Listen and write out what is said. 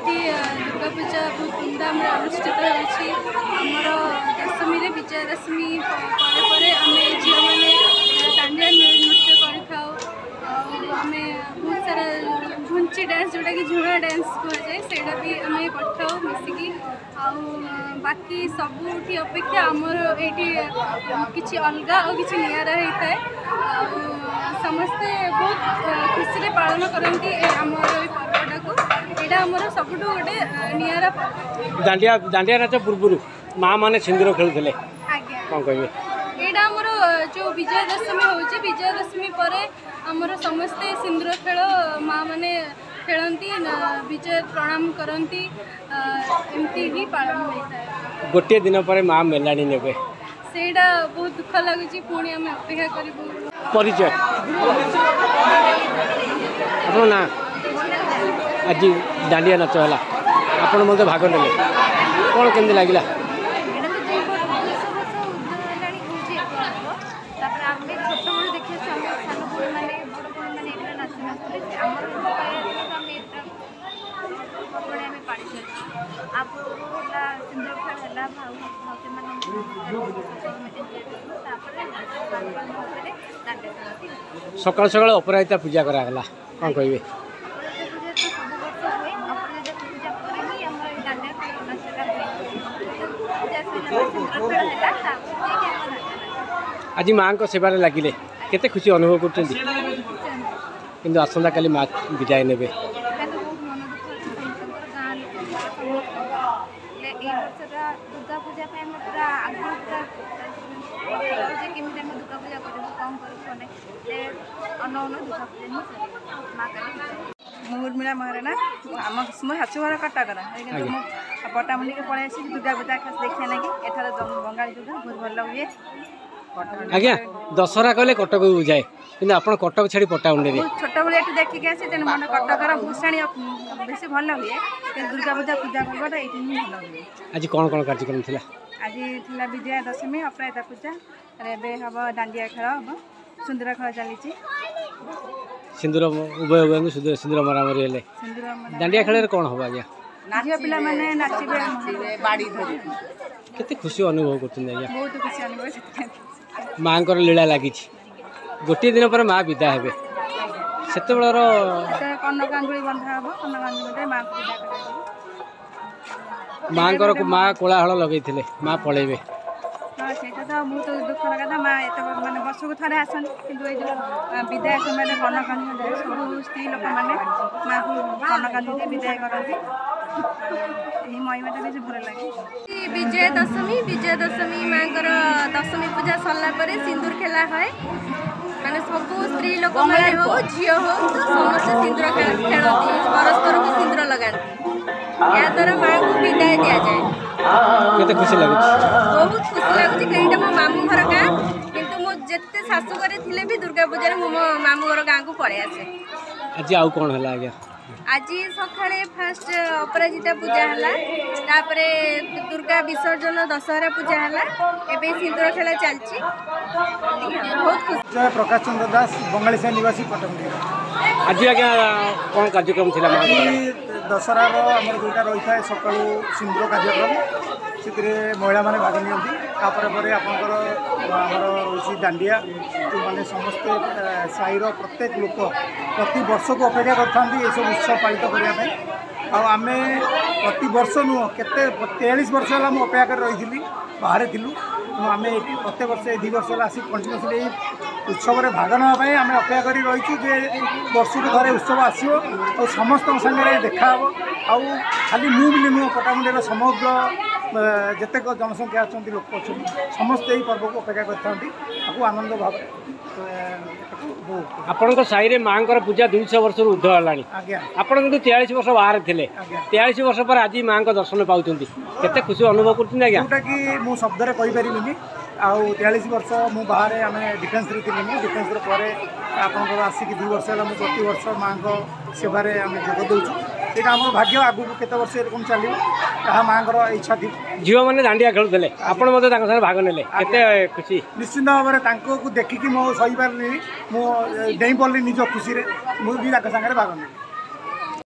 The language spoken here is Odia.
ଏଠି ଦୁର୍ଗା ପୂଜା ବହୁତ ଧୁମଧାମରେ ଅନୁଷ୍ଠିତ ହେଉଛି। ଆମର ଦଶମୀରେ, ବିଜୟାଦଶମୀ ପରେ ପରେ ଆମେ ଝିଅମାନେ ଦାଣ୍ଡିଆ ନୃତ୍ୟ କରିଥାଉ। ଆଉ ଆମେ ବହୁତ ସାରା ଘୁଞ୍ଚି ଡ୍ୟାନ୍ସ, ଯେଉଁଟାକି ଝୁଣା ଡ୍ୟାନ୍ସ କୁହାଯାଏ, ସେଇଟା ବି ଆମେ କରିଥାଉ ମିଶିକି। ଆଉ ବାକି ସବୁଠି ଅପେକ୍ଷା ଆମର ଏଇଠି କିଛି ଅଲଗା ଆଉ କିଛି ନିଆରା ହେଇଥାଏ, ଆଉ ସମସ୍ତେ ବହୁତ ଖୁସିରେ ପାଳନ କରନ୍ତି ଏ ଆମର ଏଇ ପର୍ବଟାକୁ। ଏଇଟା ଆମର ସବୁଠୁ ଗୋଟେ ନିଆରା ପର୍ବ। ଦାଣ୍ଡିଆ ନାଚ ପୂର୍ବରୁ ମା ମାନେ ସିନ୍ଦୁର ଖେଳୁଥିଲେ। ଆଜ୍ଞା। କ'ଣ କହିବେ? ଏଇଟା ଆମର ଯେଉଁ ବିଜୟାଦଶମୀ ହେଉଛି, ବିଜୟାଦଶମୀ ପରେ ଆମର ସମସ୍ତେ ସିନ୍ଦୁର ଖେଳ ମା ମାନେ ଖେଳନ୍ତି, ବିଜୟ ପ୍ରଣାମ କରନ୍ତି, ଏମିତି ହିଁ ପାଳନ ହୋଇଥାଏ। ଗୋଟିଏ ଦିନ ପରେ ମା ମେଲାଣି ନେବେ। ସେଇଟା ବହୁତ ଦୁଃଖ ଲାଗୁଛି। ପୁଣି ଆମେ ଅପେକ୍ଷା କରିବୁ। ପରିଚୟ, ଆପଣ ନା? ଆଜି ଦାଣ୍ଡିଆ ନାଚ ହେଲା, ଆପଣ ମଧ୍ୟ ଭାଗ ନେଲେ, କ'ଣ କେମିତି ଲାଗିଲା? ଏଇଟା ତ 200 ବର୍ଷ ଉର୍ଦ୍ଧ୍ୱ ହେଲାଣି ହେଉଛି ଏ ପର୍ବ। ତାପରେ ଆମେ ଛୋଟବେଳୁ ଦେଖି ଆସୁଛୁ, ଆମେ ସାନ ଭଉଣୀମାନେ, ବଡ଼ ଭଉଣୀମାନେ ଏଇଟା ନାଚ ନାଚୁଥିଲେ। ଆମର ତ ଆମେ ଏଇଟା ପର୍ବାଣି ଆମେ ପାଳି ଚାଲିଛୁ। ଆ ପୂର୍ବରୁ ହେଲା ସିନ୍ଦୁର ଖେଳ ହେଲା, ଭାଉ ଭାଉଜମାନଙ୍କୁ ତାପରେ ଭାବରେ ଦାଣ୍ଡିଆ ଖେଳନ୍ତି। ସକାଳୁ ସକାଳୁ ଅପରାଜିତା ପୂଜା କରାଗଲା, କ'ଣ କହିବେ? ଅପରାଜିତା ପୂଜା ତ ସବୁ ବର୍ଷ ହୁଏ। ଅପରାଜିତା ପୂଜା ପରେ ହିଁ ଆମର ଏଇ ଦାଣ୍ଡିଆ ଖେଳ ନାଚଟା ହୁଏ। ଅପରାଜିତା ପୂଜା ସରିଲା ପରେ ସିନ୍ଦୁର ଖେଳ ହେଲା, ତାପରେ ଯାଇକି ଆମ ଦାଣ୍ଡିଆ ନାଚ। ଆଜି ମାଆଙ୍କ ସେବାରେ ଲାଗିଲେ, କେତେ ଖୁସି ଅନୁଭବ କରୁଛନ୍ତି? କିନ୍ତୁ ଆସନ୍ତାକାଲି ମା ବିଦାୟ ନେବେ। ଏଇଟା ତ ବହୁତ ମନ ଦୁଃଖ ଅଛି ସମସ୍ତଙ୍କର, ଗାଁ ଲୋକଙ୍କର, ସମସ୍ତଙ୍କର। ହେଲେ ଏଇ ବର୍ଷଟା ଦୁର୍ଗା ପୂଜା ପାଇଁ ଆମେ ପୁରା ଆଗରୁ ପୁରା ଯେ କେମିତି ଆମେ ଦୁର୍ଗା ପୂଜା କରିବୁ, କ'ଣ କରିବୁ, କ'ଣ ନାହିଁ। ହେଲେ ଅନଉ ଅନଉ ଦୁର୍ଗା ପୂଜା ହିଁ ସରିଗଲା। ମା କାଲି। ମୁଁ ଉର୍ମିଳା ମହାରଣା। ଆମ ମୋ ଶାଶୁଘର କଟକର, କିନ୍ତୁ ମୁଁ ପଟ୍ଟାମୁଣ୍ଡିକି ପଳେଇ ଆସିଛି ଦୁର୍ଗା ପୂଜା ଖାସ ଦେଖିବା ଲାଗି। ଏଠାରେ ବଙ୍ଗାଳୀ ଦୁର୍ଗା ବହୁତ ଭଲ ହୁଏ। ଆଜ୍ଞା, ଦଶହରା କହିଲେ କଟକକୁ ବୁଝାଏ, କିନ୍ତୁ ଆପଣ କଟକ ଛାଡ଼ି ପଟ୍ଟାମୁଣ୍ଡିରେ? ମୁଁ ଛୋଟବେଳୁ ଏଠି ଦେଖିକି ଆସି, ତେଣୁ ମନେ କଟକର ଭୂଷାଣୀ ବେଶୀ ଭଲ ହୁଏ, କିନ୍ତୁ ଦୁର୍ଗା ପୂଜା ପୂଜା ପର୍ବଟା ଏଇଠି ହିଁ ଭଲ ହୁଏ। ଆଜି କ'ଣ କ'ଣ କାର୍ଯ୍ୟକ୍ରମ ଥିଲା? ଆଜି ଥିଲା ବିଜୟା ଦଶମୀ, ଅପରାଜିତା ପୂଜା, ଏବେ ହବ ଦାଣ୍ଡିଆ ଖେଳ ହବ, ସିନ୍ଦୁର ଖେଳ ଚାଲିଛି। ସିନ୍ଦୁର, ଉଭୟ ଉଭୟଙ୍କୁ ସିନ୍ଦୁର ମରାମରି ହେଲେ। ସିନ୍ଦୁର। ଦାଣ୍ଡିଆ ଖେଳରେ କ'ଣ ହବ ଆଜ୍ଞା? ଝିଅ ପିଲାମାନେ ନାଚିବେ। କେତେ ଖୁସି ଅନୁଭବ କରୁଛନ୍ତି ଆଜ୍ଞା? ବହୁତ ଖୁସି ଅନୁଭବ ସେଥିପାଇଁ। ମାଆଙ୍କର ଲୀଳା ଲାଗିଛି। ଗୋଟିଏ ଦିନ ପରେ ମା ବିଦା ହେବେ, ସେତେବେଳର? କନକାଞ୍ଜୁଳି ବନ୍ଧା ହବ, କନକାଞ୍ଜୁଳି ମାଆଙ୍କୁ ବିଦା କରାଯିବ। ମାଆଙ୍କର ମା କୋଳାହଳ ଲଗେଇଥିଲେ, ମା ପଳେଇବେ। ହଁ, ସେଇଟା ତ ବହୁତ ଦୁଃଖର କଥା। ମା ଏତେ ମାନେ ବର୍ଷକୁ ଥରେ ଆସନ୍ତି, କିନ୍ତୁ ଏଇ ଯେଉଁ ବିଦାୟ ସମୟରେ କନକାଞ୍ଜୁଳି ଯାଏ, ସବୁ ସ୍ତ୍ରୀ ଲୋକମାନେ ମାଆକୁ କନକାଞ୍ଜୁଳି ଦେଇ ବିଦାୟ କରନ୍ତି। ଏହି ମହିମାଟା ବେଶୀ ଭଲ ଲାଗେ। ବିଜୟା ଦଶମୀ, ବିଜୟା ଦଶମୀ ମାଙ୍କର ଦଶମୀ ପୂଜା ସରିଲା ପରେ ସିନ୍ଦୁର ଖେଳା ହୁଏ। ମାନେ ସବୁ ସ୍ତ୍ରୀ ଲୋକମାନେ ହଉ, ଝିଅ ହଉ, ତ ସମସ୍ତେ ସିନ୍ଦୁର ଖେଳନ୍ତି, ପରସ୍ପରକୁ ସିନ୍ଦୁର ଲଗାନ୍ତି। ଏହାଦ୍ୱାରା ମାଆଙ୍କୁ ବିଦାୟ ଦିଆଯାଏ। କେତେ ଖୁସି ଲାଗୁଛି? ବହୁତ ଖୁସି ଲାଗୁଛି। ଏଇଟା ମୋ ମାମୁଁ ଘର ଗାଁ, କିନ୍ତୁ ମୁଁ ଯେତେ ଶାଶୁ ଘରେ ଥିଲେ ବି ଦୁର୍ଗା ପୂଜାରେ ମୁଁ ମୋ ମାମୁଁ ଘର ଗାଁକୁ ପଳେଇ ଆସେ। ଆଜି ଆଉ କ'ଣ ହେଲା ଆଜ୍ଞା? ଆଜି ସକାଳେ ଫାଷ୍ଟ ଅପରାଜିତା ପୂଜା ହେଲା, ତାପରେ ଦୁର୍ଗା ବିସର୍ଜନ, ଦଶହରା ପୂଜା ହେଲା, ଏବେ ସିନ୍ଦୁର ଖେଳ ଚାଲିଛି। ବହୁତ ଖୁସି। ଜୟ ପ୍ରକାଶ ଚନ୍ଦ୍ର ଦାସ, ବଙ୍ଗାଳୀ ସାହି ନିବାସୀ, ପଟ୍ଟାମୁଣ୍ଡି। ଆଜି ଆଜ୍ଞା କ'ଣ କାର୍ଯ୍ୟକ୍ରମ ଥିଲା? ଆଜି ଦଶହରାର ଆମର ଯେଉଁଟା ରହିଥାଏ, ସକାଳୁ ସିନ୍ଦୁର କାର୍ଯ୍ୟକ୍ରମ, ସେଥିରେ ମହିଳାମାନେ ଭାଗ ନିଅନ୍ତି। ତାପରେ ପରେ ଆପଣଙ୍କର ଆମର ରହୁଛି ଦାଣ୍ଡିଆ, ଯେଉଁମାନେ ସମସ୍ତେ ସାହିର ପ୍ରତ୍ୟେକ ଲୋକ ପ୍ରତି ବର୍ଷକୁ ଅପେକ୍ଷା କରିଥାନ୍ତି ଏସବୁ ଉତ୍ସବ ପାଳିତ କରିବା ପାଇଁ। ଆଉ ଆମେ ପ୍ରତିବର୍ଷ ନୁହଁ, କେତେ 43 ବର୍ଷ ହେଲା ମୁଁ ଅପେକ୍ଷା କରି ରହିଥିଲି, ବାହାରେ ଥିଲୁ। ତେଣୁ ଆମେ ଏଠି ପ୍ରତ୍ୟେକ ବର୍ଷ ଏଇ 2 ବର୍ଷ ହେଲା ଆସି କଣ୍ଟିନ୍ୟୁସଲି ଏଇ ଉତ୍ସବରେ ଭାଗ ନେବା ପାଇଁ ଆମେ ଅପେକ୍ଷା କରି ରହିଛୁ ଯେ ବର୍ଷକୁ ଥରେ ଉତ୍ସବ ଆସିବ ଆଉ ସମସ୍ତଙ୍କ ସାଙ୍ଗରେ ଦେଖାହେବ। ଆଉ ଖାଲି ମୁଁ ବୋଲି ନୁହଁ, ପଟ୍ଟାମୁଣ୍ଡିର ସମଗ୍ର ଯେତେକ ଜନସଂଖ୍ୟା ଅଛନ୍ତି, ଲୋକ ଅଛନ୍ତି, ସମସ୍ତେ ଏହି ପର୍ବକୁ ଅପେକ୍ଷା କରିଥାନ୍ତି, ତାକୁ ଆନନ୍ଦ ଭାବରେ ଏଟାକୁ ଉପଭୋଗ। ଆପଣଙ୍କ ସାହିରେ ମାଆଙ୍କର ପୂଜା 200 ବର୍ଷରୁ ଉର୍ଦ୍ଧ୍ୱ ହେଲାଣି। ଆଜ୍ଞା। ଆପଣ କିନ୍ତୁ 43 ବର୍ଷ ବାହାରେ ଥିଲେ। ଆଜ୍ଞା। 43 ବର୍ଷ ପରେ ଆଜି ମାଆଙ୍କ ଦର୍ଶନ ପାଉଛନ୍ତି, କେତେ ଖୁସି ଅନୁଭବ କରୁଛନ୍ତି ଆଜ୍ଞା? ଯେଉଁଟାକି ମୁଁ ଶବ୍ଦରେ କହିପାରିବିନି। ଆଉ 43 ବର୍ଷ ମୁଁ ବାହାରେ, ଆମେ ଡିଫେନ୍ସରେ ଥିଲି। ମୁଁ ଡିଫେନ୍ସର ପରେ ଆପଣଙ୍କର ଆସିକି 2 ବର୍ଷ ହେଲା ମୁଁ ପ୍ରତିବର୍ଷ ମାଆଙ୍କ ସେବାରେ ଆମେ ଯୋଗ ଦେଉଛୁ। ଏଇଟା ଆମର ଭାଗ୍ୟ। ଆଗକୁ କେତେ ବର୍ଷ ଏରକମ ଚାଲିବ, ତାହା ମାଆଙ୍କର ଇଚ୍ଛା ଥିବ। ଝିଅମାନେ ଦାଣ୍ଡିଆ ଖେଳୁଥିଲେ, ଆପଣ ମଧ୍ୟ ତାଙ୍କ ସାଙ୍ଗରେ ଭାଗ ନେଲେ, କେତେ ଖୁସି? ନିଶ୍ଚିନ୍ତ ଭାବରେ ତାଙ୍କୁ ଦେଖିକି ମୁଁ ସହିପାରିଲିନି, ମୁଁ ଡେଇଁ ପଡ଼ିଲି ନିଜ ଖୁସିରେ, ମୁଁ ବି ତାଙ୍କ ସାଙ୍ଗରେ ଭାଗ ନେଲି।